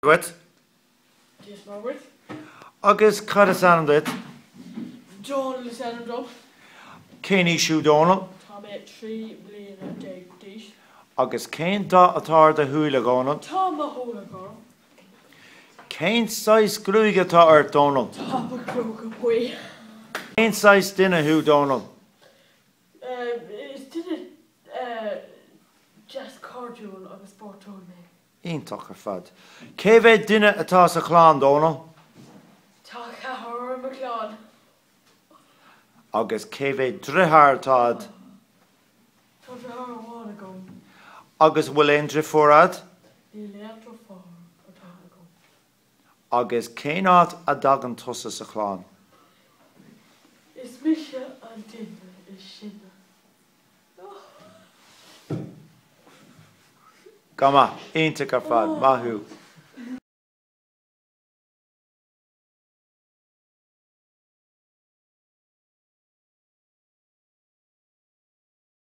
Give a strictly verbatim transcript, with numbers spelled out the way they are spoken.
Duit. Dia is Muire dhuit. Agus cad is ainm duit? Dónal is ainm dom. Cén aois thú Dónal? Tá mé trí bliana déag d'aois. Agus cén dath atá ar do shúile Dhónal? Tá mo shúile gorm. Cén saghas gruaige atá ort Dónal? Tá mo ghruaig buí. Cén saghas duine thú Dónal? Is duine deas cairdiúil agus spórtúil mé. Iontach ar fad. Cé mhéad duine atá sa chlann Dónal? Tá ceathrar i mo chlann. Agus cé mhéad deartháir atá agat? Tá deartháir amháin agam. Agus bhfuil aon deirfiúr agat? Níl aon deirfiúr atá agam. Agus cén áit a dtagann tusa sa chlann? Is mise an duine is sine. Go maith, iontach ar fad, maith thú.